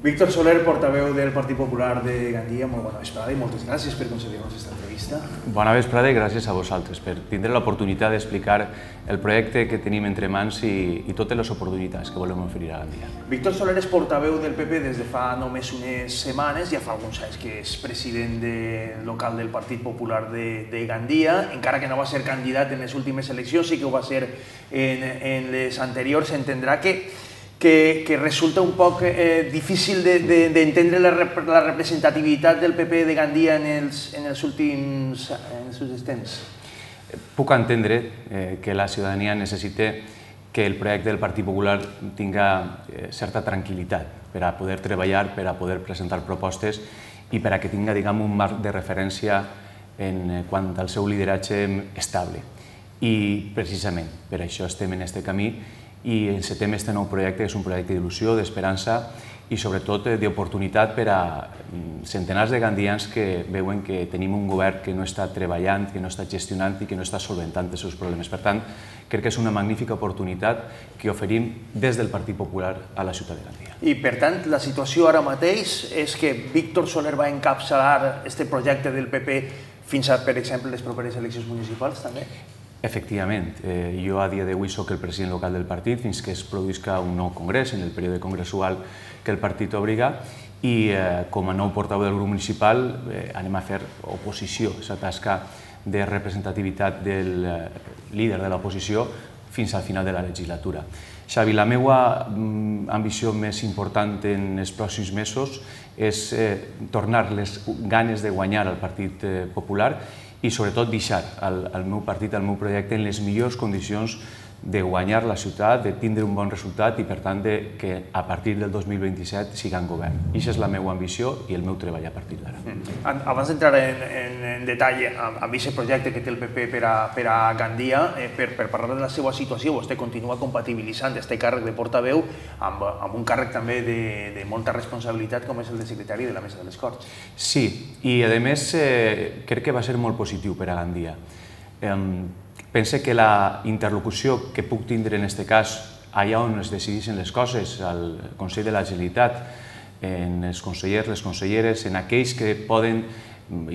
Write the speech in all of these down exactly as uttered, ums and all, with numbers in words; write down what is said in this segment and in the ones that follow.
Víctor Soler, portaveu del Partit Popular de Gandia, molt bona vesprada i moltes gràcies per concedir-nos aquesta entrevista. Bona vesprada i gràcies a vosaltres per tindre l'oportunitat d'explicar el projecte que tenim entre mans i, i totes les oportunitats que volem oferir a Gandia. Víctor Soler és portaveu del P P des de fa només unes setmanes, ja fa alguns anys que és president de, local del Partit Popular de, de Gandia, encara que no va ser candidat en les últimes eleccions, sí que ho va ser en, en les anteriors. Entendrà que Que, que resulta un poc eh, difícil d'entendre de, de, la, rep la representativitat del P P de Gandia en els, en els últims en els últims temps. Puc entendre eh, que la ciutadania necessita que el projecte del Partit Popular tinga eh, certa tranquil·litat per a poder treballar, per a poder presentar propostes i per a que tinga, diguem, un marc de referència en quant al seu lideratge estable. I precisament per això estem en aquest camí i encetem aquest nou projecte, que és un projecte d'il·lusió, d'esperança i sobretot d'oportunitat per a centenars de gandians que veuen que tenim un govern que no està treballant, que no està gestionant i que no està solventant els seus problemes. Per tant, crec que és una magnífica oportunitat que oferim des del Partit Popular a la ciutat de Gandia. I per tant, la situació ara mateix és que Víctor Soler va encapçalar aquest projecte del P P fins a, per exemple, les properes eleccions municipals també? Efectivament, eh, jo a dia d'avui soc el president local del partit fins que es produïsca un nou congrés, en el període congressual que el partit obliga, i eh, com a nou portaveu del grup municipal eh, anem a fer oposició, aquesta tasca de representativitat del eh, líder de l'oposició fins al final de la legislatura. Xavi, la meva mm, ambició més important en els pròxims mesos és eh, tornar les ganes de guanyar al Partit eh, Popular i sobretot deixar el, el meu partit, el meu projecte en les millors condicions de guanyar la ciutat, de tindre un bon resultat i per tant de que a partir del dos mil vint-i-set siga en govern. I aquesta és la meva ambició i el meu treball a partir d'ara. Mm. Abans d'entrar en, en, en detall amb, amb aquest projecte que té el P P per a, per a Gandia, eh, per, per parlar de la seva situació, vostè continua compatibilitzant aquest càrrec de portaveu amb, amb un càrrec també de, de molta responsabilitat com és el de secretari de la Mesa de les Corts. Sí, i a més eh, crec que va ser molt positiu per a Gandia. Eh, Pense que la interlocució que puc tindre en aquest cas allà on es decideixen les coses, al Consell de la Generalitat, en els consellers, les conselleres, en aquells que poden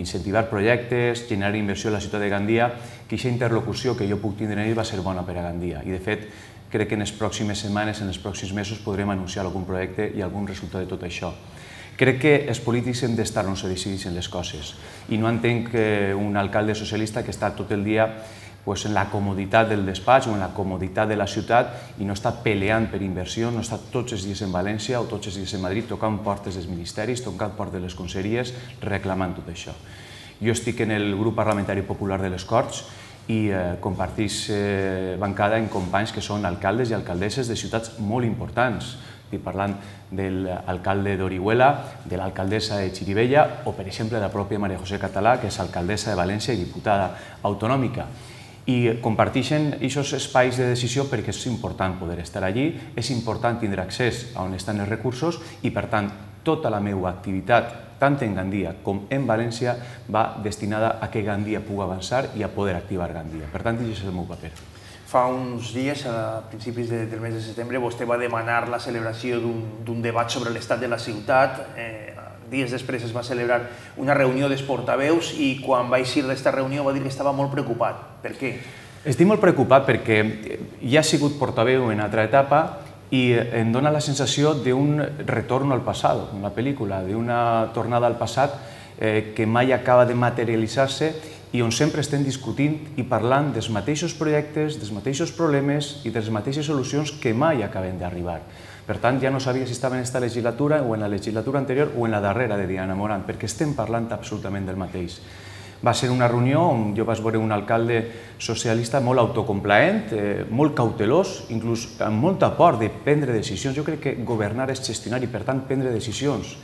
incentivar projectes, generar inversió a la ciutat de Gandia, que aquesta interlocució que jo puc tindre en ells va ser bona per a Gandia. I de fet, crec que en les pròximes setmanes, en els pròxims mesos, podrem anunciar algun projecte i algun resultat de tot això. Crec que els polítics hem d'estar on se decideixen les coses i no entenc un alcalde socialista que està tot el dia en la comoditat del despatx o en la comoditat de la ciutat i no està peleant per inversió, no està tots els dies en València o tots els dies en Madrid tocant portes dels ministeris, tocant portes de les conselleries, reclamant tot això. Jo estic en el grup parlamentari popular de les Corts i compartís bancada amb companys que són alcaldes i alcaldesses de ciutats molt importants. Estic parlant de l'alcalde d'Orihuela, de l'alcaldessa de Xirivella o, per exemple, de la pròpia Maria José Català, que és alcaldessa de València i diputada autonòmica. I comparteixen aquests espais de decisió perquè és important poder estar allí, és important tindre accés a on estan els recursos i, per tant, tota la meva activitat, tant en Gandia com en València, va destinada a que Gandia pugui avançar i a poder activar Gandia. Per tant, aquest és el meu paper. Fa uns dies, a principis del mes de setembre, vostè va demanar la celebració d'un debat sobre l'estat de la ciutat. Dies després es va celebrar una reunió dels portaveus i quan va eixir d'esta reunió va dir que estava molt preocupat. Per què? Estic molt preocupat perquè ja he sigut portaveu en altra etapa i em dóna la sensació d'un retorn al passat, una pel·lícula, d'una tornada al passat que mai acaba de materialitzar-se i on sempre estem discutint i parlant dels mateixos projectes, dels mateixos problemes i de les mateixes solucions que mai acaben d'arribar. Per tant, ja no sabia si estava en aquesta legislatura o en la legislatura anterior o en la darrera de Diana Morant, perquè estem parlant absolutament del mateix. Va ser una reunió on jo vaig veure un alcalde socialista molt autocomplaent, molt cautelós, inclús amb molta por de prendre decisions. Jo crec que governar és gestionar i, per tant, prendre decisions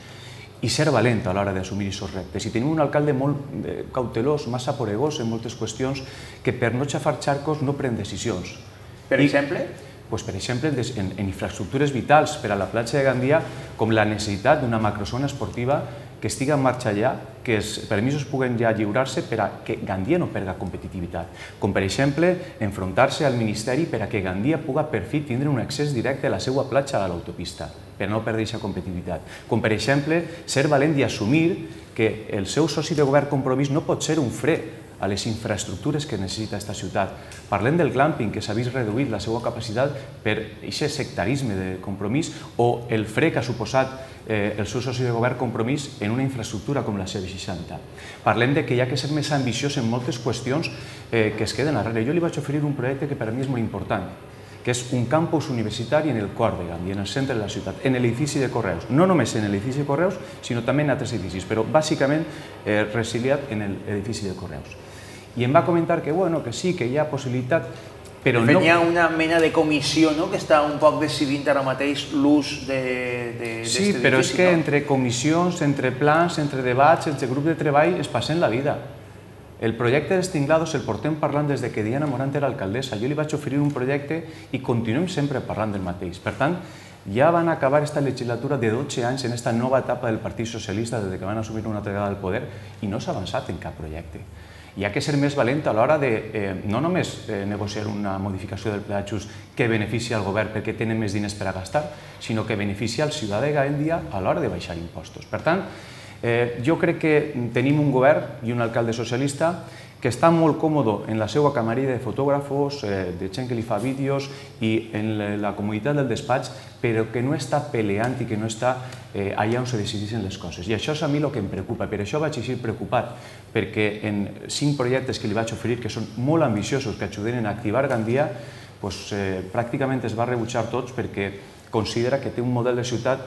i ser valent a l'hora d'assumir aquests reptes. I tenim un alcalde molt cautelós, massa poregós en moltes qüestions, que per no xafar xarcos no pren decisions. Per exemple? Per exemple, en infraestructures vitals per a la platja de Gandia, com la necessitat d'una macrozona esportiva que estigui en marxa ja, que els permisos puguen ja lliurar-se per a que Gandia no perda competitivitat. Com, per exemple, enfrontar-se al Ministeri per a que Gandia puga per fi tindre un accés directe a la seva platja a l'autopista, per no perdre aquesta competitivitat. Com, per exemple, ser valent i assumir que el seu soci de govern Compromís no pot ser un fre a les infraestructures que necessita aquesta ciutat. Parlem del glamping, que s'ha vist reduït la seva capacitat per aquest sectarisme de Compromís, o el fre que ha suposat el seu soci de govern Compromís en una infraestructura com la C seixanta. Parlem que hi ha que ser més ambiciós en moltes qüestions que es queden darrere. Jo li vaig oferir un projecte que per a mi és molt important, que és un campus universitari en el cor de Gandia, en el centre de la ciutat, en l'edifici de Correus. No només en l'edifici de Correus, sinó també en altres edificis, però bàsicament resiliat en l'edifici de Correus. I em va comentar que, bueno, que sí, que hi ha possibilitat, però no... Hi ha una mena de comissió, no?, que està un poc decidint ara mateix l'ús d'aquest edifici. Sí, però és que entre comissions, entre plans, entre debats, entre grups de treball, es passen la vida. El projecte dels Tinglados el portem parlant des que Diana Morant era alcaldessa. Jo li vaig oferir un projecte i continuem sempre parlant del mateix. Per tant, ja van acabar aquesta legislatura de dotze anys en aquesta nova etapa del Partit Socialista des que van assumir una altra vegada el poder i no s'ha avançat en cap projecte. Hi ha que ser més valent a l'hora de no només negociar una modificació del pla d'ajust que beneficia el govern perquè tenen més diners per a gastar, sinó que beneficia el ciutadà de Gandia a l'hora de baixar impostos. Per tant, jo crec que tenim un govern i un alcalde socialista que està molt còmode en la seva camarilla de fotògrafos, de gent que li fa vídeos i en la comunitat del despatx, però que no està peleant i que no està allà on se decideixen les coses. I això és a mi el que em preocupa. Per això vaig així preocupat, perquè en cinc projectes que li vaig oferir, que són molt ambiciosos, que ajuden a activar Gandia, pràcticament es va rebutjar tots perquè considera que té un model de ciutat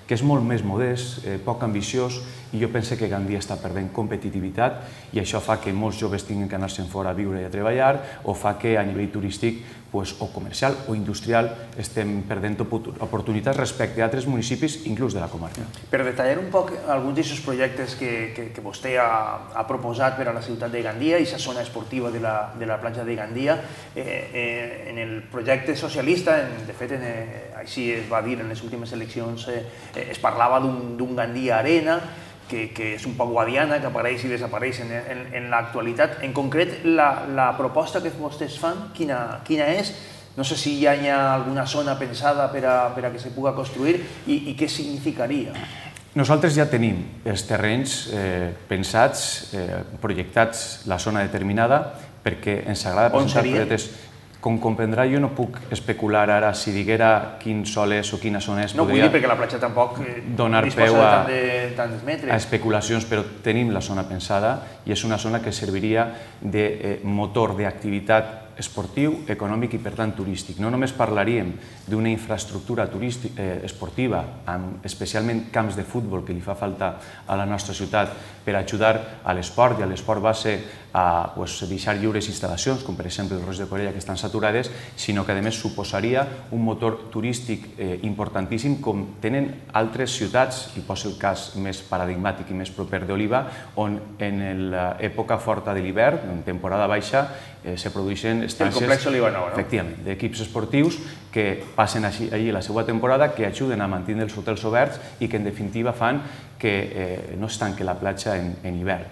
que és molt més modest, poc ambiciós, i jo penso que Gandia està perdent competitivitat i això fa que molts joves tinguin que anar-se'n fora a viure i a treballar o fa que a nivell turístic o comercial o industrial estem perdent oportunitats respecte a altres municipis, inclús de la comarca. Per detallar un poc alguns d'aquests projectes que vostè ha proposat per a la ciutat de Gandia i la zona esportiva de la platja de Gandia, en el projecte socialista, de fet, així es va dir en les últimes eleccions, es parlava d'un Gandia Arena, que és un poc guadiana, que apareix i desapareix en l'actualitat. En concret, la proposta que vostès fan, quina és? No sé si hi ha alguna zona pensada per a que se pugui construir i què significaria. Nosaltres ja tenim els terrenys pensats, projectats, la zona determinada, perquè ens agrada presentar projectes. Com comprendrà, jo no puc especular ara si diguera quin sol és o quina zona és. No vull dir perquè la platja tampoc disposa de tants metres. A especulacions, però tenim la zona pensada i és una zona que serviria de motor d'activitat esportiu, econòmic i, per tant, turístic. No només parlaríem d'una infraestructura esportiva, amb especialment camps de futbol que li fa falta a la nostra ciutat per ajudar a l'esport i a l'esport base a deixar lliures instal·lacions, com per exemple el Roig de Corella, que estan saturades, sinó que a més suposaria un motor turístic importantíssim com tenen altres ciutats, i poso el cas més paradigmàtic i més proper d'Oliva, on en l'època forta de l'hivern, en temporada baixa, se produeixen estàncies d'equips esportius que passen allí la seva temporada, que ajuden a mantenir els hotels oberts i que en definitiva fan que no es tanqui la platja en hivern.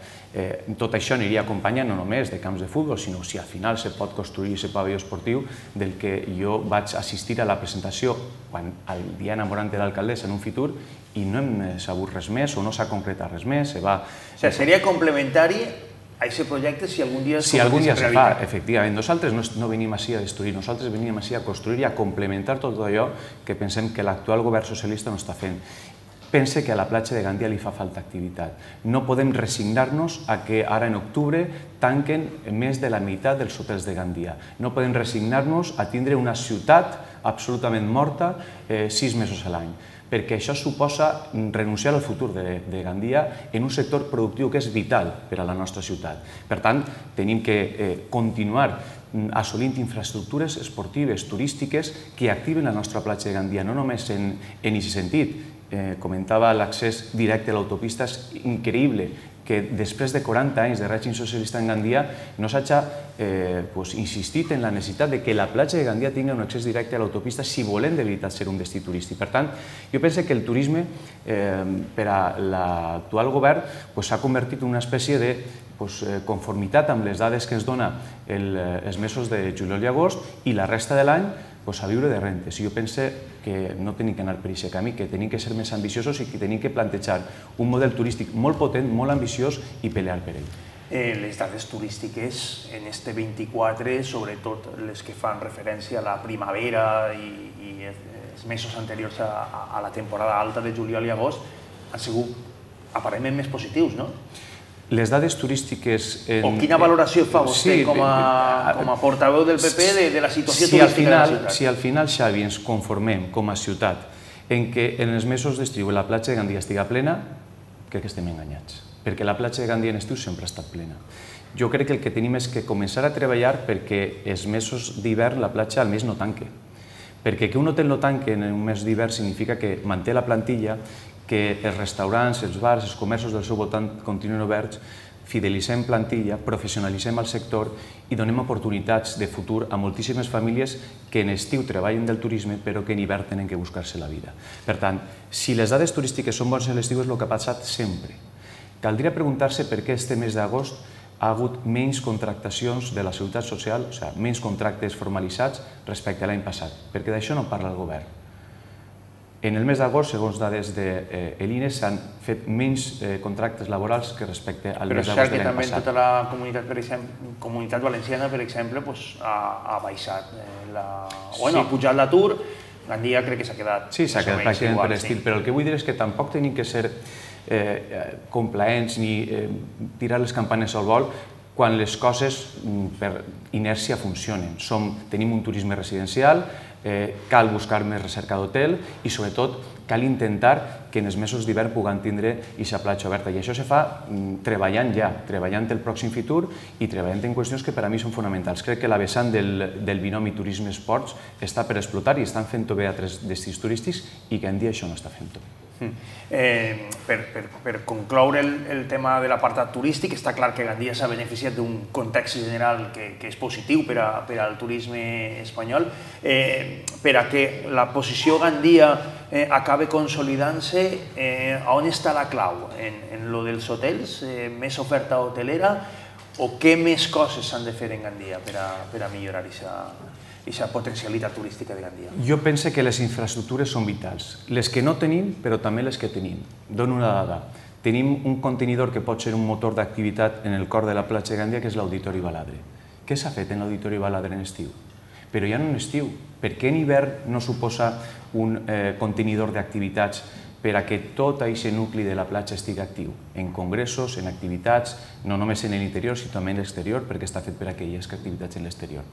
Tot això aniria acompanyat no només de camps de futbol, sinó si al final se pot construir aquest pavelló esportiu del que jo vaig assistir a la presentació quan el Diana Morant era alcaldessa en un futur i no hem sabut res més o no s'ha concretat res més. Seria complementari a aquest projecte si algun dia es Si algun dia se fa, efectivament. Nosaltres no venim així a destruir, nosaltres venim així a construir i a complementar tot allò que pensem que l'actual govern socialista no està fent. Pense que a la platja de Gandia li fa falta activitat. No podem resignar-nos a que ara en octubre tanquen més de la meitat dels hotels de Gandia. No podem resignar-nos a tindre una ciutat absolutament morta sis mesos a l'any, perquè això suposa renunciar al futur de Gandia en un sector productiu que és vital per a la nostra ciutat. Per tant, tenim que continuar assolint infraestructures esportives, turístiques, que activen la nostra platja de Gandia, no només en aquest sentit. Comentava l'accés directe a l'autopista, és increïble que després de quaranta anys de règim socialista en Gandia no s'hagi insistit en la necessitat de que la platja de Gandia tingui un accés directe a l'autopista si volem de veritat ser un destí turístic. Per tant, jo penso que el turisme per a l'actual govern s'ha convertit en una espècie de conformitat amb les dades que ens dona els mesos de juliol i agost i la resta de l'any a viure de rentes. Jo penso que no tenim que anar per aquest camí, que tenim que ser més ambiciosos i que tenim que plantejar un model turístic molt potent, molt ambiciós i pelear per ell. Les dades turístiques en este vint-i-quatre, sobretot les que fan referència a la primavera i els mesos anteriors a la temporada alta de juliol i agost, han sigut aparentment més positius, no? Les dades turístiques... O quina valoració fa vostè com a portaveu del P P de la situació turística de la ciutat? Si al final, Xavi, ens conformem com a ciutat en què en els mesos d'estiu la platja de Gandia estiga plena, crec que estem enganyats, perquè la platja de Gandia en estiu sempre ha estat plena. Jo crec que el que tenim és que començar a treballar perquè els mesos d'hivern la platja almenys no tanque. Perquè que un hotel no tanque en un mes d'hivern significa que manté la plantilla, que els restaurants, els bars, els comerços del seu voltant continuen oberts, fidelitzem plantilla, professionalitzem el sector i donem oportunitats de futur a moltíssimes famílies que en estiu treballen del turisme però que en hivern tenen que buscar-se la vida. Per tant, si les dades turístiques són bones a l'estiu és el que ha passat sempre. Caldria preguntar-se per què este mes d'agost ha hagut menys contractacions de la seguretat social, o sigui, menys contractes formalitzats respecte a l'any passat, perquè d'això no parla el govern. En el mes d'agost, segons dades de l'I N E, s'han fet menys contractes laborals que respecte al mes d'agost de l'any passat. Però és cert que també tota la comunitat, per exemple, comunitat valenciana, per exemple, ha baixat, ha pujat l'atur, Gandia crec que s'ha quedat... Sí, s'ha quedat pràcticament per l'estil, però el que vull dir és que tampoc tenim que ser complaents ni tirar les campanes al vol quan les coses per inèrcia funcionen. Tenim un turisme residencial, cal buscar més recerca d'hotel i, sobretot, cal intentar que en els mesos d'hivern puguem tindre aquesta platja oberta. I això se fa treballant ja, treballant el pròxim futur i treballant en qüestions que per a mi són fonamentals. Crec que la vessant del binomi turisme-esports està per explotar i estan fent-ho bé a altres destins turístics i Gandia això no està fent-ho. Per concloure el tema de l'apartat turístic, està clar que Gandia s'ha beneficiat d'un context general que és positiu per al turisme espanyol. Per a que la posició Gandia acabi consolidant-se, on està la clau? En lo dels hotels, més oferta hotelera, o què més coses s'han de fer en Gandia per a millorar aquesta potencialitat turística de Gandia? Jo penso que les infraestructures són vitals, les que no tenim, però també les que tenim. Dono una dada. Tenim un contenidor que pot ser un motor d'activitat en el cor de la platja de Gandia, que és l'Auditori Baladre. Què s'ha fet en l'Auditori Baladre en estiu? Però ja no en estiu. Per què en hivern no suposa un contenidor d'activitats per a que tot aquest nucli de la platja estigui actiu? En congressos, en activitats, no només en l'interior, sinó també en l'exterior, perquè està fet per a aquelles activitats en l'exterior.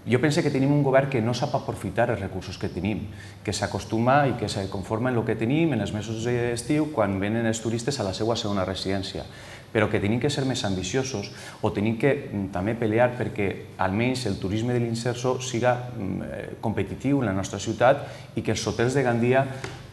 Jo penso que tenim un govern que no sap aprofitar els recursos que tenim, que s'acostuma i que se conforma en el que tenim en els mesos d'estiu quan venen els turistes a la seva segona residència, però que tenim que ser més ambiciosos o tenim que també pelear perquè almenys el turisme de l'Inserso siga competitiu en la nostra ciutat i que els hotels de Gandia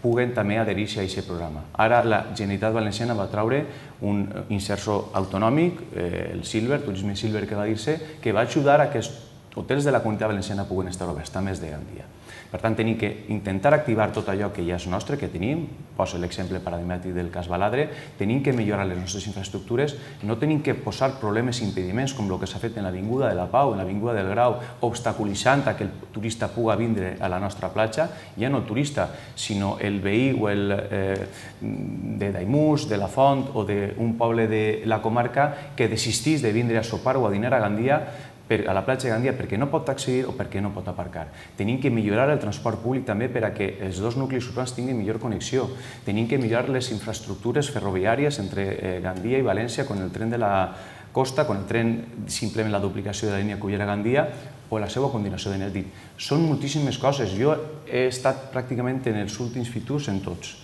puguen també adherir-se a aquest programa. Ara la Generalitat Valenciana va traure un Inserso autonòmic, el Silver, Turisme Silver que va dir-se, que va ajudar a que els hotels de la Comunitat Valenciana puguen estar oberts, també els de Gandia. Per tant, tenim que intentar activar tot allò que ja és nostre, que tenim, poso l'exemple paradigmàtic del cas Baladre, tenim que millorar les nostres infraestructures, no tenim que posar problemes i impediments com el que s'ha fet en l'Avinguda de la Pau, en l'Avinguda del Grau, obstaculitzant que el turista pugui vindre a la nostra platja, ja no el turista, sinó el veí o el de Daimús, de la Font o d'un poble de la comarca que desistís de vindre a sopar o a dinar a Gandia a la platja de Gandia perquè no pot accedir o perquè no pot aparcar. Tenim que millorar el transport públic també per a que els dos nuclis urbans tinguin millor connexió. Tenim que millorar les infraestructures ferroviàries entre Gandia i València con el tren de la costa, con el tren simplement la duplicació de la línia Cullera-Gandia o la seva continuació de Nèldit. Són moltíssimes coses. Jo he estat pràcticament en els últims futurs en tots.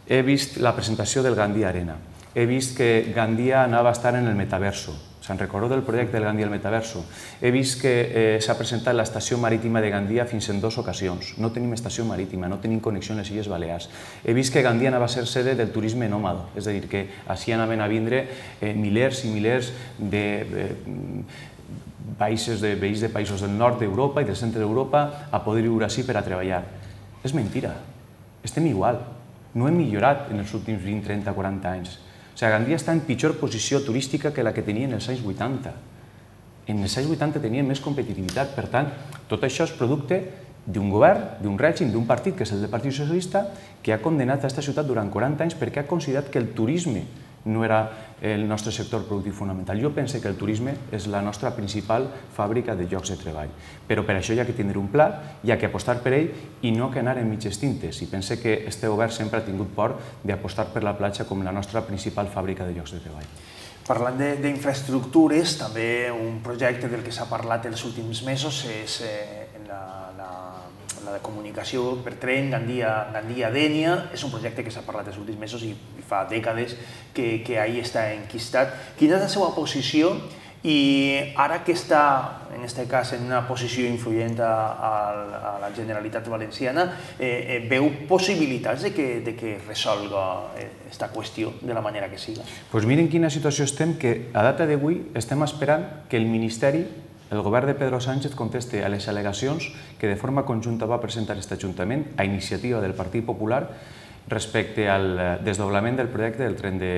He vist la presentació del Gandia Arena. He vist que Gandia anava a estar en el metaverso. Se'n recordo del projecte del Gandia al Metaverso. He vist que s'ha presentat l'estació marítima de Gandia fins en dues ocasions. No tenim estació marítima, no tenim connexió amb les Illes Balears. He vist que Gandia anava a ser sede del turisme nòmada, és a dir, que així anaven a vindre milers i milers de països de veïns de països del nord d'Europa i del centre d'Europa a poder viure així per a treballar. És mentira. Estem igual. No hem millorat en els últims vint, trenta, quaranta anys. O sigui, Gandia està en pitjor posició turística que la que tenia en els anys vuitanta. En els anys vuitanta tenien més competitivitat. Per tant, tot això és producte d'un govern, d'un règim, d'un partit, que és el del Partit Socialista, que ha condemnat aquesta ciutat durant quaranta anys perquè ha considerat que el turisme no era el nostre sector productiu fonamental. Jo penso que el turisme és la nostra principal fàbrica de llocs de treball. Però per això hi ha que tindre un pla, hi ha que apostar per ell i no que anar en mitges tintes. I penso que este govern sempre ha tingut por d'apostar per la platja com la nostra principal fàbrica de llocs de treball. Parlant d'infraestructures, també un projecte del que s'ha parlat els últims mesos és la de comunicació per tren Gandia-Dénia. És un projecte que s'ha parlat els últims mesos i fa dècades que ahí està enquistat. Quina és la seva posició i ara que està, en aquest cas, en una posició influent a la Generalitat Valenciana, veu possibilitats de que resolga aquesta qüestió de la manera que siga? Doncs miren quina situació estem, que a data d'avui estem esperant que el Ministeri, el govern de Pedro Sánchez, conteste a les al·legacions que de forma conjunta va presentar aquest Ajuntament a iniciativa del Partit Popular respecte al desdoblament del projecte del tren de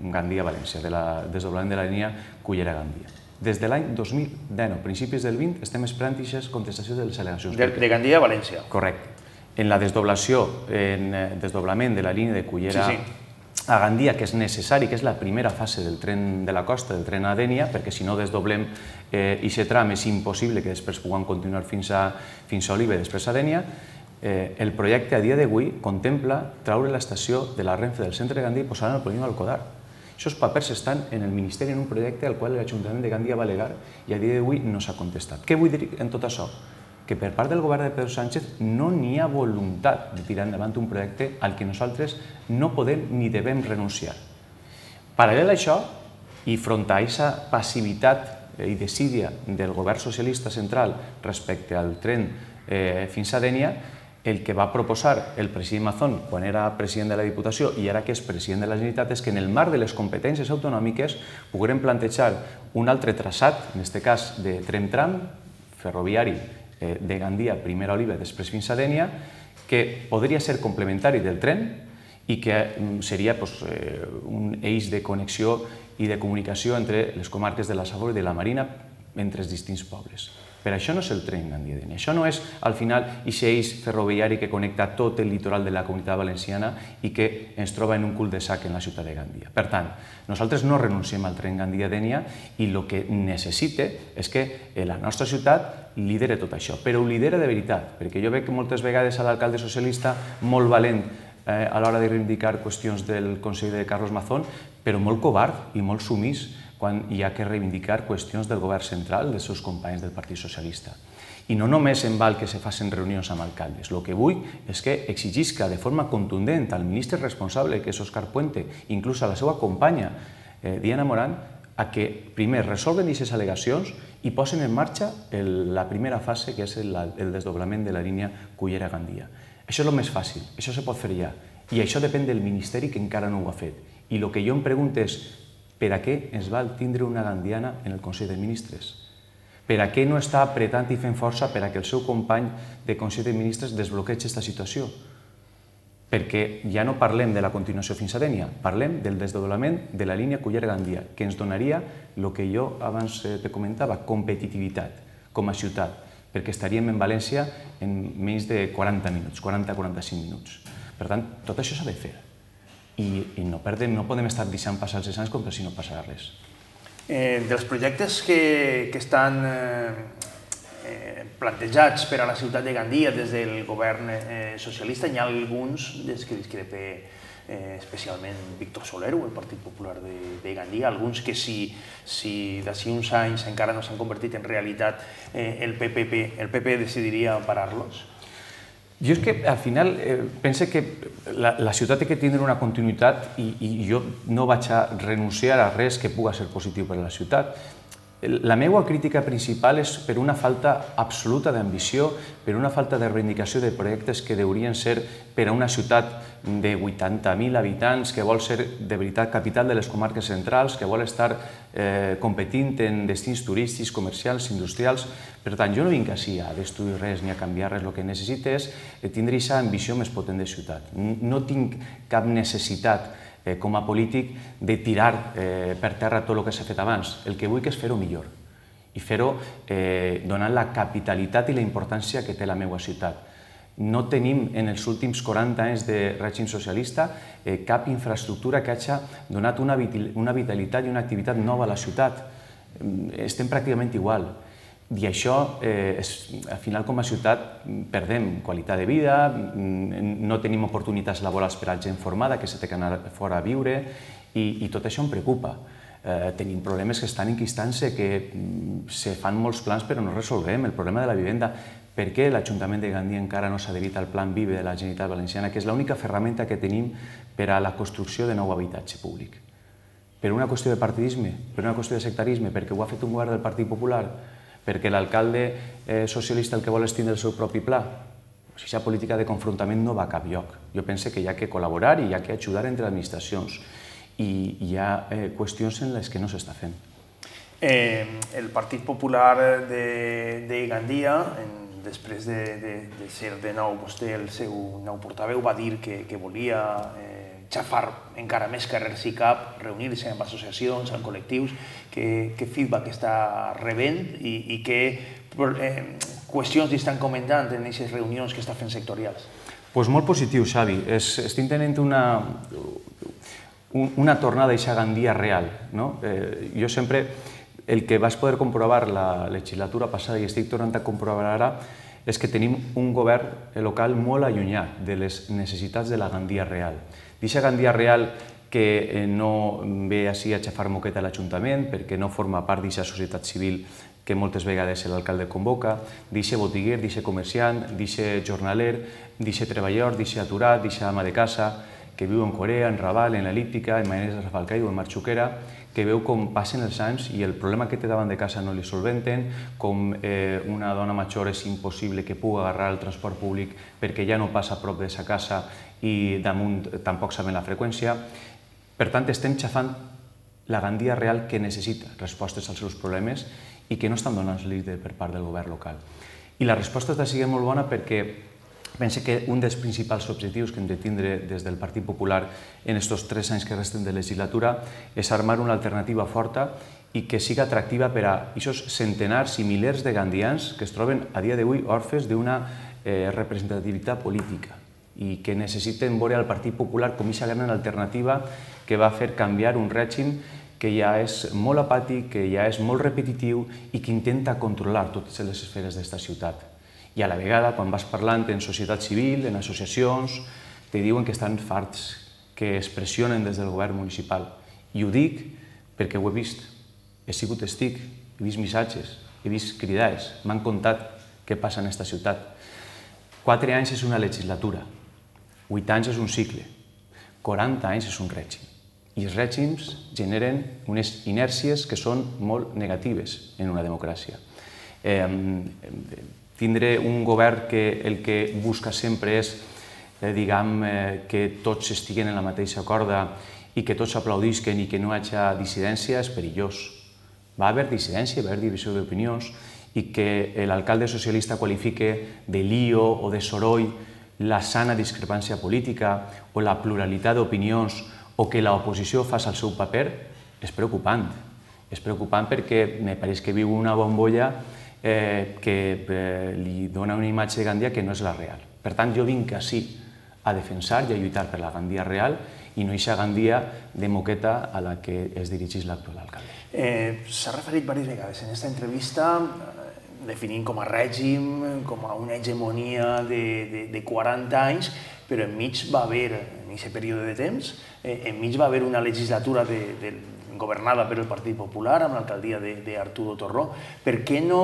Gandia-València, del desdoblament de la línia Cullera-Gandia. Des de l'any dos mil dinou, principis del vint, estem esperant aquesta contestació de les al·legacions. De Gandia a València. Correcte. En la desdoblació, en el desdoblament de la línia de Cullera a Gandia, que és necessari, que és la primera fase del tren de la costa, del tren a Dénia, perquè si no desdoblem aquest tram és impossible que després puguem continuar fins a Oliva i després a Dénia. El projecte a dia d'avui contempla traure l'estació de la Renfe del centre de Gandia i posar-la al polígon Alcodar. Aquests papers estan en el Ministeri en un projecte al qual l'Ajuntament de Gandia va al·legar i a dia d'avui no s'ha contestat. Què vull dir en tot això? Que per part del govern de Pedro Sánchez no n'hi ha voluntat de tirar endavant un projecte al que nosaltres no podem ni devem renunciar. Paral·lel a això, i front a aquesta passivitat i desídia del govern socialista central respecte al tren fins a Dénia, el que va proposar el president Mazón quan era president de la Diputació i ara que és president de la Generalitat és que en el marc de les competències autonòmiques poguérem plantejar un altre traçat, en aquest cas de tren-tram ferroviari de Gandia, primer a Oliva, després fins a Dénia, que podria ser complementari del tren i que seria un eix de connexió i de comunicació entre les comarques de la Safor i de la Marina entre els distints pobles. Però això no és el tren Gandia-Dénia. Això no és, al final, aquest eix ferroviari que connecta tot el litoral de la Comunitat Valenciana i que ens troba en un cul de sac en la ciutat de Gandia. Per tant, nosaltres no renunciem al tren Gandia-Dénia i el que necessita és que la nostra ciutat lidera tot això, però ho lidera de veritat, perquè jo veig que moltes vegades a l'alcalde socialista, molt valent a l'hora de reivindicar qüestions del Consell de Carlos Mazón, però molt covard i molt sumís quan hi ha que reivindicar qüestions del govern central, dels seus companys del Partit Socialista. I no només en val que se facin reunions amb alcaldes. El que vull és que exigisca de forma contundent al ministre responsable, que és Òscar Puente, inclús a la seva companya, Diana Morán, a que primer resolven aquestes al·legacions i posen en marxa la primera fase, que és el desdoblament de la línia Cullera-Gandia. Això és el més fàcil, això se pot fer ja. I això depèn del Ministeri, que encara no ho ha fet. I el que jo em pregunto és per a què ens val tindre una gandiana en el Consell de Ministres? Per a què no està apretant i fent força per a que el seu company de Consell de Ministres desbloquegi aquesta situació? Perquè ja no parlem de la continuació fins a Dénia, parlem del desdoblament de la línia Cullera-Gandia, que ens donaria el que jo abans te comentava, competitivitat com a ciutat, perquè estaríem en València en menys de quaranta minuts, quaranta a quaranta-cinc minuts. Per tant, tot això s'ha de fer. I no podem estar deixant passar els anys com si no passarà res. Dels projectes que estan plantejats per a la ciutat de Gandia des del govern socialista, hi ha alguns des que discrepa especialment Víctor Soler, el Partit Popular de Gandia, alguns que si d'ací uns anys encara no s'han convertit en realitat el P P decidiria parar-los? Jo és que al final eh, pense que la, la ciutat té que tindre una continuïtat i, i jo no vaig a renunciar a res que puga ser positiu per a la ciutat. La meva crítica principal és per una falta absoluta d'ambició, per una falta de reivindicació de projectes que deurien ser per a una ciutat de vuitanta mil habitants, que vol ser de veritat capital de les comarques centrals, que vol estar eh, competint en destins turístics, comercials, industrials. Per tant, jo no vinc així a destruir res ni a canviar res, el que necessito és tindre aquesta ambició més potent de ciutat. No tinc cap necessitat Eh, com a polític, de tirar eh, per terra tot el que s'ha fet abans. El que vull és fer-ho millor i fer-ho eh, donant la capitalitat i la importància que té la meva ciutat. No tenim en els últims quaranta anys de règim socialista eh, cap infraestructura que hagi donat una, una vitalitat i una activitat nova a la ciutat. Estem pràcticament igual. I això, eh, és, al final, com a ciutat, perdem qualitat de vida, no tenim oportunitats laborals per a gent formada, que s'ha d'anar fora a viure, i, i tot això em preocupa. Eh, tenim problemes que estan enquistant-se, que se fan molts plans però no resolvem. El problema de la vivenda, per què l'Ajuntament de Gandia encara no s'ha adherit al Plan Vive de la Generalitat Valenciana, que és l'única ferramenta que tenim per a la construcció de nou habitatge públic? Per una qüestió de partidisme? Per una qüestió de sectarisme? Perquè ho ha fet un govern del Partit Popular? Perquè l'alcalde eh, socialista el que vol és tindre el seu propi pla? Aquesta política de confrontament no va a cap lloc. Jo penso que hi ha que col·laborar i hi ha que ajudar entre administracions. I hi ha eh, qüestions en les que no s'està fent. Eh, el Partit Popular de, de Gandia, en, després de, de, de ser de nou vostè el seu nou portaveu, va dir que, que volia eh, xafar encara més carrers i cap, reunir-se amb associacions, amb col·lectius, que, que feedback està rebent i, i que eh, qüestions li estan comentant en aquestes reunions que està fent sectorials. Pues molt positiu, Xavi. Es, estic tenint una, una tornada a aquesta Gandia real. No? Eh, jo sempre, el que vaig poder comprovar la legislatura passada i estic tornant a comprovar ara, és que tenim un govern local molt allunyat de les necessitats de la Gandia real. D'aquesta Gandia real que no ve així a xafar moqueta a l'Ajuntament perquè no forma part d'aquesta societat civil que moltes vegades l'alcalde convoca, d'aquest botiguer, d'aquest comerciant, d'aquest jornaler, d'aquest treballador, d'aquest aturat, d'aquest ama de casa, que viu en Corea, en Raval, en l'El·líptica, en Maneres de Rafalcai o en Marxuquera, que veu com passen els anys i el problema que té davant de casa no li solventen, com eh, una dona major és impossible que pugui agarrar el transport públic perquè ja no passa a prop de sa casa i damunt tampoc saben la freqüència. Per tant, estem xafant la Gandia real que necessita respostes als seus problemes i que no estan donant-li per part del govern local. I la resposta està sent molt bona perquè penso que un dels principals objectius que hem de tindre des del Partit Popular en aquests tres anys que resten de legislatura és armar una alternativa forta i que siga atractiva per a aquests centenars i milers de gandians que es troben a dia d'avui orfes d'una eh, representativitat política i que necessiten veure al Partit Popular com aquesta gran alternativa que va fer canviar un règim que ja és molt apàtic, que ja és molt repetitiu i que intenta controlar totes les esferes d'esta ciutat. I a la vegada, quan vas parlant en societat civil, en associacions, te diuen que estan farts, que es pressionen des del govern municipal. I ho dic perquè ho he vist. He sigut testic, he vist missatges, he vist cridades, m'han contat què passa en aquesta ciutat. Quatre anys és una legislatura, vuit anys és un cicle, quaranta anys és un règim. I els règims generen unes inèrcies que són molt negatives en una democràcia. Eh, tindre un govern que el que busca sempre és eh, diguem, eh, que tots estiguen en la mateixa corda i que tots aplaudisquen i que no hi hagi dissidència és perillós. Va haver dissidència, va haver divisió d'opinions i que l'alcalde socialista qualifique de lío o de soroll la sana discrepància política o la pluralitat d'opinions o que l'oposició faci el seu paper és preocupant. És preocupant perquè me pareix que viu una bombolla eh, que eh, li dona una imatge de Gandia que no és la real. Per tant, jo vinc així a defensar i a lluitar per la Gandia real i no eixa Gandia de moqueta a la que es dirigeix l'actual alcalde. Eh, S'ha referit diverses vegades en aquesta entrevista definint com a règim, com a una hegemonia de, de, de quaranta anys, però enmig va haver, en aquest període de temps, eh, enmig va haver una legislatura de, de, governada per el Partit Popular, amb l'alcaldia d'Arturo Torró. Per què no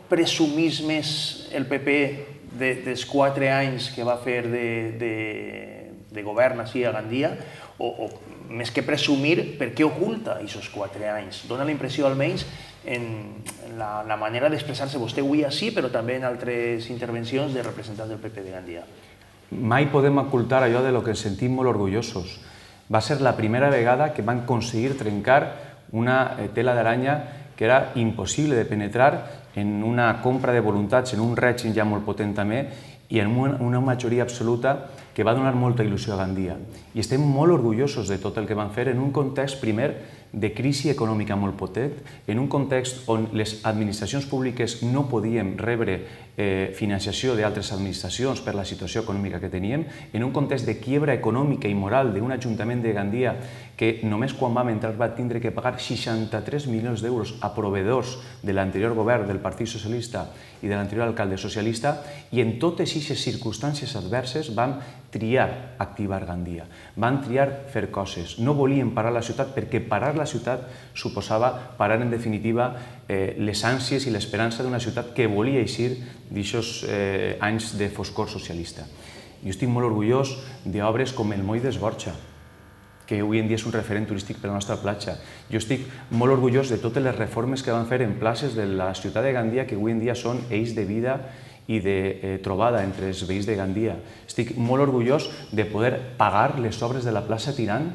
presumís més el P P dels quatre anys que va fer de govern així a Gandia, o més que presumir, per què oculta aquests quatre anys? Dóna la impressió, almenys, en la manera d'expressar-se vostè avui així, però també en altres intervencions de representants del P P de Gandia. Mai podem ocultar allò de lo que ens sentim molt orgullosos. Va ser la primera vegada que van aconseguir trencar una tela d'aranya que era impossible de penetrar en una compra de voluntats, en un règim ja molt potent també, i en una majoria absoluta que va donar molta il·lusió a Gandia. I estem molt orgullosos de tot el que van fer en un context, primer, de crisi econòmica molt potent, en un context on les administracions públiques no podíem rebre financiació d'altres administracions per la situació econòmica que teníem, en un context de quiebra econòmica i moral d'un ajuntament de Gandia que només quan vam entrar va tindre que pagar seixanta-tres milions d'euros a proveedors de l'anterior govern del Partit Socialista i de l'anterior alcalde socialista, i en totes aquestes circumstàncies adverses vam triar activar Gandia, van triar fer coses. No volíem parar la ciutat perquè parar la ciutat suposava parar en definitiva les ànsies i l'esperança d'una ciutat que volia eixir d'aquests anys de foscor socialista. Jo estic molt orgullós d'obres com el Moll d'Esborxa, que avui en dia és un referent turístic per a la nostra platja. Jo estic molt orgullós de totes les reformes que van fer en places de la ciutat de Gandia, que avui en dia són eix de vida i de trobada entre els veïns de Gandia. Estic molt orgullós de poder pagar les obres de la plaça Tirant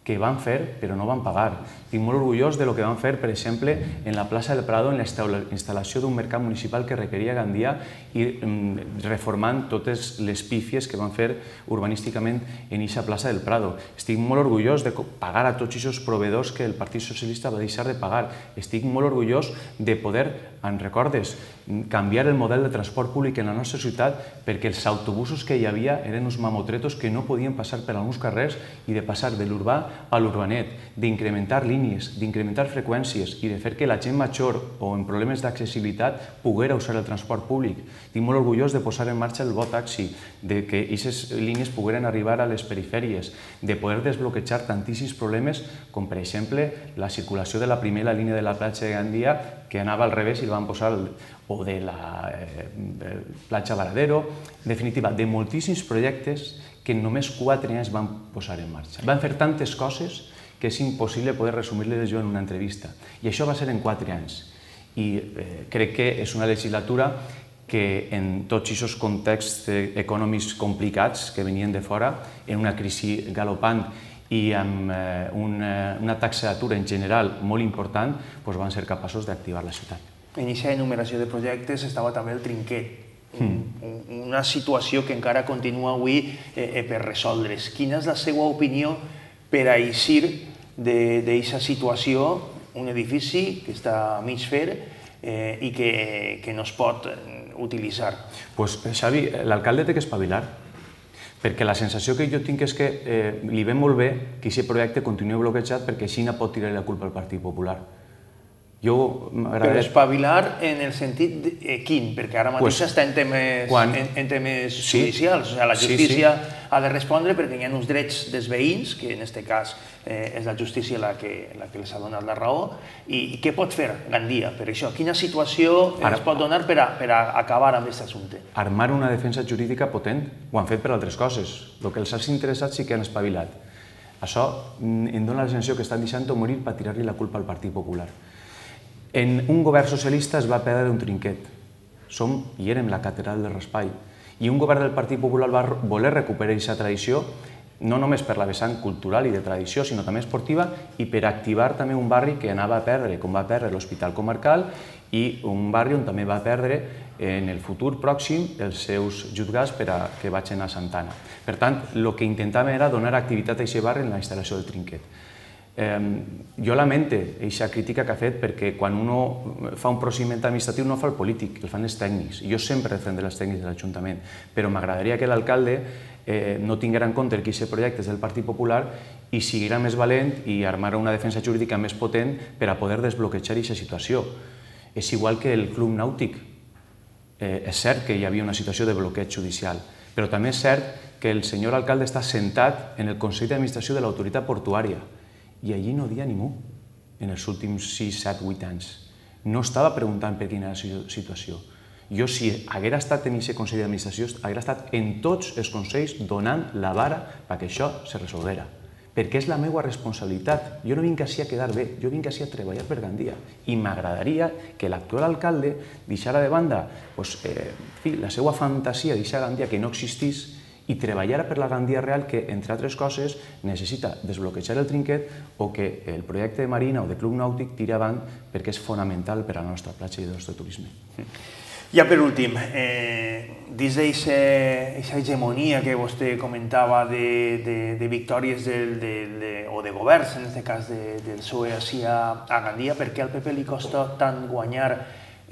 que van fer però no van pagar. Estic molt orgullós de lo que van fer, per exemple, en la plaça del Prado, en la instal·lació d'un mercat municipal que requeria Gandia i reformant totes les pífies que van fer urbanísticament en aquesta plaça del Prado. Estic molt orgullós de pagar a tots aquests proveïdors que el Partit Socialista va deixar de pagar. Estic molt orgullós de poder, en recordes, canviar el model de transport públic en la nostra ciutat perquè els autobusos que hi havia eren uns mamotretos que no podien passar per alguns carrers i de passar de l'urbà a l'urbanet, d'incrementar línies, d'incrementar freqüències i de fer que la gent major o en problemes d'accessibilitat poguera usar el transport públic. Estic molt orgullós de posar en marxa el Bo-Taxi, de que aquestes línies pogueren arribar a les perifèries, de poder desbloquejar tantíssims problemes com, per exemple, la circulació de la primera línia de la platja de Gandia que anava al revés i el van posar, o de la platja Varadero, en definitiva, de moltíssims projectes que en només quatre anys van posar en marxa. Van fer tantes coses que és impossible poder resumir-les jo en una entrevista. I això va ser en quatre anys. I crec que és una legislatura que en tots aquests contexts econòmics complicats que venien de fora, en una crisi galopant i amb una taxa d'atur en general molt important, van ser capaços d'activar la ciutat. En aquesta enumeració de projectes estava també el Trinquet, una situació que encara continua avui per resoldre's. Quina és la seva opinió per a eixir d'aquesta situació, un edifici que està a mig fer i que no es pot utilitzar? Doncs, Xavi, l'alcalde té que espavilar, perquè la sensació que jo tinc és que li ve molt bé que aquest projecte continuï bloquejat perquè així no pot tirar la culpa al Partit Popular. Però espavilar en el sentit quin? Perquè ara mateix està en temes judicials. La justícia ha de respondre perquè hi ha uns drets dels veïns, que en aquest cas és la justícia la que els ha donat la raó. I què pot fer Gandia per això? Quina situació es pot donar per a acabar amb aquest assumpte? Armar una defensa jurídica potent. Ho han fet per altres coses. El que els ha interessat sí que han espavilat. Això em dona la sensació que estan deixant-ho morir per tirar-li la culpa al Partit Popular. En un govern socialista es va perdre un Trinquet. Som i érem la catedral del Raspall. I un govern del Partit Popular va voler recuperar aquesta tradició, no només per la vessant cultural i de tradició, sinó també esportiva, i per activar també un barri que anava a perdre, com va perdre l'Hospital Comarcal, i un barri on també va perdre en el futur pròxim els seus jutjats per a que vagin a Santana. Per tant, el que intentàvem era donar activitat a aquest barri en la instal·lació del Trinquet. Jo lamente aquesta crítica que ha fet perquè quan un fa un procediment administratiu no fa el polític, el fan els tècnics. Jo sempre defendré els tècnics de l'Ajuntament, però m'agradaria que l'alcalde no tinguera en compte que aquest projecte és del Partit Popular i siguera més valent i armara una defensa jurídica més potent per a poder desbloquejar aquesta situació. És igual que el Club Nàutic. És cert que hi havia una situació de bloqueig judicial, però també és cert que el senyor alcalde està sentat en el Consell d'Administració de l'Autoritat Portuària i allí no dia ningú en els últims sis, set, vuit anys. No estava preguntant per quina era la situació. Jo, si haguera estat en aquest Consell d'Administració, haguera estat en tots els consells donant la vara perquè això se resolguera. Perquè és la meva responsabilitat. Jo no vinc així a quedar bé, jo vinc així a treballar per Gandia. I m'agradaria que l'actual alcalde deixara de banda la seva fantasia d'eixa Gandia que no existís i treballara per la Gandia real que, entre altres coses, necessita desbloquejar el trinquet o que el projecte de marina o de club nàutic tiri avant perquè és fonamental per a la nostra platja i del nostre turisme. Ja per últim, dins d'aquesta hegemonia que vostè comentava de victòries o de governs, en aquest cas del P S O E així a Gandia, per què al P P li costa tant guanyar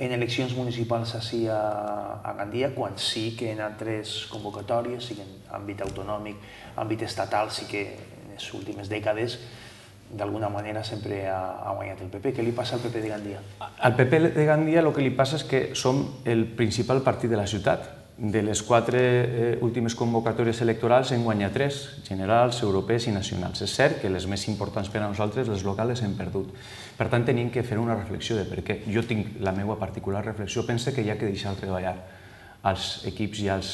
en eleccions municipals així a Gandia, quan sí que en altres convocatòries, sí que en àmbit autonòmic, àmbit estatal, sí que en les últimes dècades d'alguna manera sempre ha guanyat el P P. Què li passa al P P de Gandia? Al P P de Gandia el que li passa és que som el principal partit de la ciutat. De les quatre últimes convocatòries electorals hem guanyat tres, generals, europees i nacionals. És cert que les més importants per a nosaltres, les locals, hem perdut. Per tant, tenim que fer una reflexió de per què. Jo tinc la meva particular reflexió. Penso que hi ha que deixar treballar als equips i als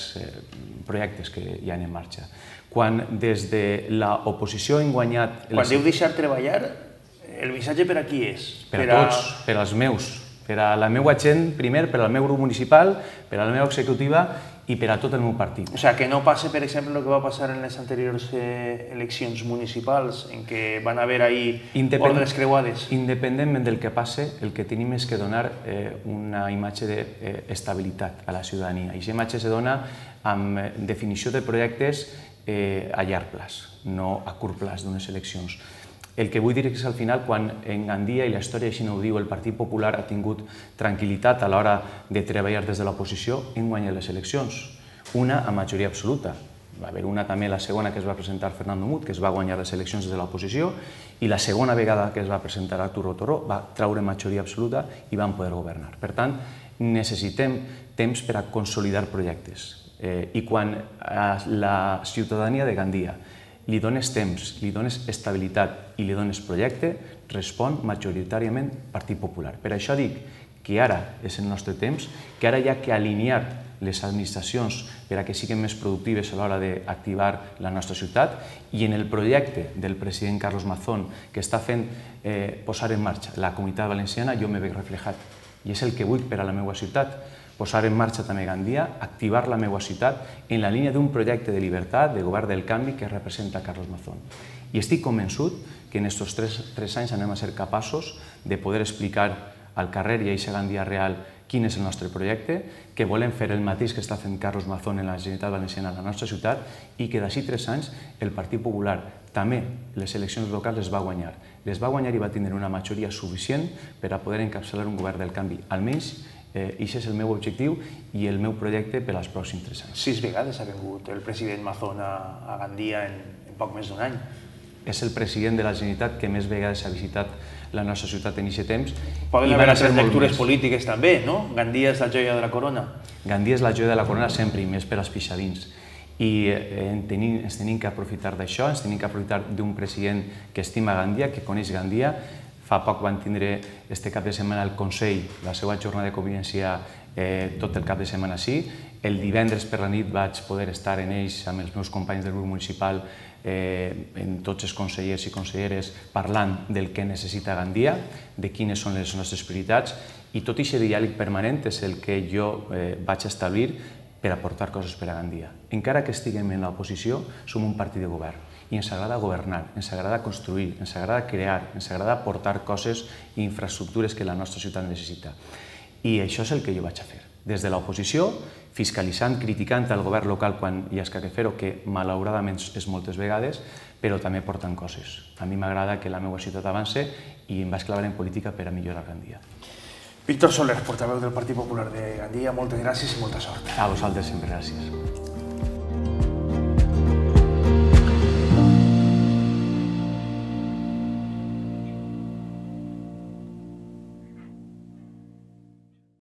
projectes que hi ha en marxa. Quan des de l'oposició hem guanyat... Quan diu deixar treballar, el missatge per a qui és? Per a tots, per als meus. Per a la meva gent, primer, per al meu grup municipal, per a la meva executiva i per a tot el meu partit. O sigui, que no passi, per exemple, el que va passar en les anteriors eleccions municipals, en què van haver ahí ordres creuades. Independentment del que passe, el que tenim és que donar una imatge d'estabilitat a la ciutadania. I aquesta imatge se dona amb definició de projectes a llarg plaç, no a curt plaç d'unes eleccions. El que vull dir és que al final, quan en Gandia, i la història així no ho diu, el Partit Popular ha tingut tranquil·litat a l'hora de treballar des de l'oposició, hem guanyat les eleccions. Una a majoria absoluta. Va haver una també, la segona, que es va presentar Fernando Mut, que es va guanyar les eleccions des de l'oposició, i la segona vegada que es va presentar Arturo Torró va traure majoria absoluta i van poder governar. Per tant, necessitem temps per a consolidar projectes. I quan a la ciutadania de Gandia li dones temps, li dones estabilitat i li dones projecte, respon majoritàriament Partit Popular. Per això dic que ara és el nostre temps, que ara hi ha que alinear les administracions per a que siguin més productives a l'hora d'activar la nostra ciutat, i en el projecte del president Carlos Mazón que està fent posar en marxa la Comunitat Valenciana, jo me veig reflejat. I és el que vull per a la meva ciutat, posar en marxa també Gandia, activar la meva ciutat en la línia d'un projecte de llibertat, de govern del canvi que representa Carlos Mazón. I estic convençut que en aquests tres anys anem a ser capaços de poder explicar al carrer i a aquesta Gandia real quin és el nostre projecte, que volem fer el mateix que està fent Carlos Mazón en la Generalitat Valenciana a la nostra ciutat i que d'ací tres anys el Partit Popular també les eleccions locals les va guanyar. Les va guanyar i va tindre una majoria suficient per a poder encapçalar un govern del canvi. Almenys aquest és el meu objectiu i el meu projecte per als pròxims tres anys. Sis vegades ha vingut el president Mazón a Gandia en poc més d'un any. És el president de la Generalitat que més vegades ha visitat la nostra ciutat en aquest temps. Poden haver altres lectures polítiques també, no? Gandia és la joia de la corona. Gandia és la joia de la corona sempre, i més per als pixadins. I ens tenim que aprofitar d'això, ens tenim que aprofitar d'un president que estima Gandia, que coneix Gandia. Fa poc van tindre este cap de setmana al Consell la seva jornada de convivència tot el cap de setmana així. El divendres per la nit vaig poder estar en ells amb els meus companys del grup municipal, en tots els consellers i conselleres, parlant del que necessita Gandia, de quines són les nostres prioritats, i tot aquest diàleg permanent és el que jo vaig establir per aportar coses per a Gandia. Encara que estiguem en l'oposició, som un partit de govern i ens agrada governar, ens agrada construir, ens agrada crear, ens agrada aportar coses i infraestructures que la nostra ciutat necessita. I això és el que jo vaig a fer. Des de l'oposició, fiscalitzant, criticant el govern local quan hi ha que fer-ho, que malauradament és moltes vegades, però també portant coses. A mi m'agrada que la meva ciutat avance i em vaig clavar en política per a millorar Gandia. Víctor Soler, portaveu del Partit Popular de Gandia, moltes gràcies i molta sort. A vosaltres sempre, gràcies.